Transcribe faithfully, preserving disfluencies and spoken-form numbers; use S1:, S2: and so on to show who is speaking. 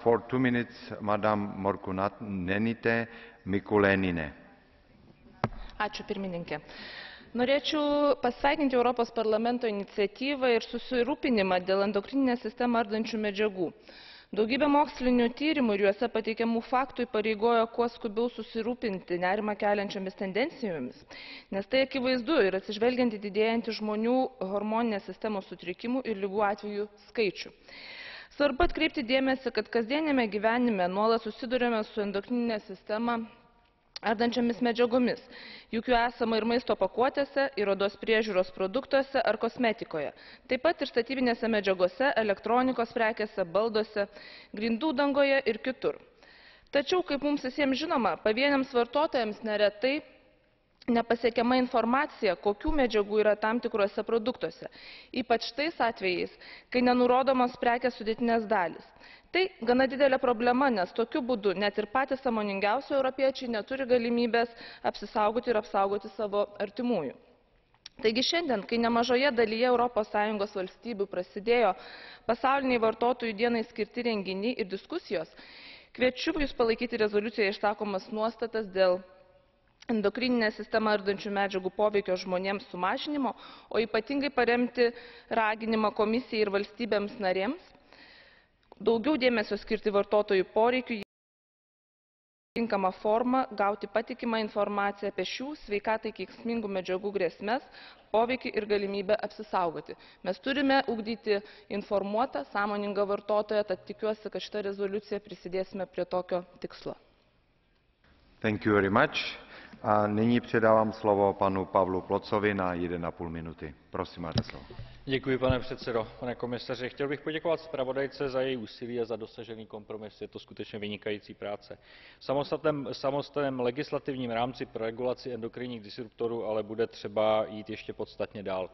S1: For two minutes, Madam Morkunatė Mikulėnienė.
S2: Ačiū pirmininkė. Norėčiau pasveikinti Europos parlamento iniciatyvą ir susirūpinimą dėl endokrininę sistemą ardančių medžiagų. Daugybė mokslinių tyrimų ir juose pateikiamų faktų įpareigojo kuo skubiau susirūpinti nerimą keliančiomis tendencijomis, nes tai akivaizdu ir atsižvelgiant į didėjantį žmonių hormoninės sistemos sutrikimų ir ligų atvejų skaičių. Svarbu atkreipti dėmesį, kad kasdienėme gyvenime nuolat susiduriame su endokrininę sistemą ardančiomis medžiagomis, juk jų esama ir maisto pakuotėse, ir odos priežiūros produktuose ar kosmetikoje, taip pat ir statybinėse medžiagose, elektronikos prekėse, balduose, grindų dangoje ir kitur. Tačiau, kaip mums visiems žinoma, pavieniams vartotojams neretai nepasiekiama informacija, kokių medžiagų yra tam tikruose produktuose, ypač tais atvejais, kai nenurodomos prekės sudėtinės dalys. Tai gana didelė problema, nes tokiu būdu net ir patys sąmoningiausi europiečiai neturi galimybės apsisaugoti ir apsaugoti savo artimųjų. Taigi šiandien, kai nemažoje dalyje Europos Sąjungos valstybių prasidėjo pasauliniai vartotojų dienai skirti renginiai ir diskusijos, kviečiu Jūs palaikyti rezoliucijoje išsakomas nuostatas dėl endokrininę sistemą ardančių medžiagų poveikio žmonėms sumažinimo, o ypatingai paremti raginimą komisijai ir valstybėms narėms daugiau dėmesio skirti vartotojų poreikių, tinkamą formą gauti patikimą informaciją apie šių sveikatai kenksmingų medžiagų grėsmes, poveikį ir galimybę apsisaugoti. Mes turime ugdyti informuotą, sąmoningą vartotoją, tad tikiuosi, kad šitą rezoliuciją prisidėsime prie tokio tikslo.
S1: Thank you very much. A nyní předávám slovo panu Pavlu Plocovi na jeden a půl minuty. Prosím, máte slovo.
S3: Děkuji, pane předsedo. Pane komisaři, chtěl bych poděkovat zpravodajce za její úsilí a za dosažený kompromis. Je to skutečně vynikající práce. V samostatném, samostatném legislativním rámci pro regulaci endokrinních disruptorů ale bude třeba jít ještě podstatně dál.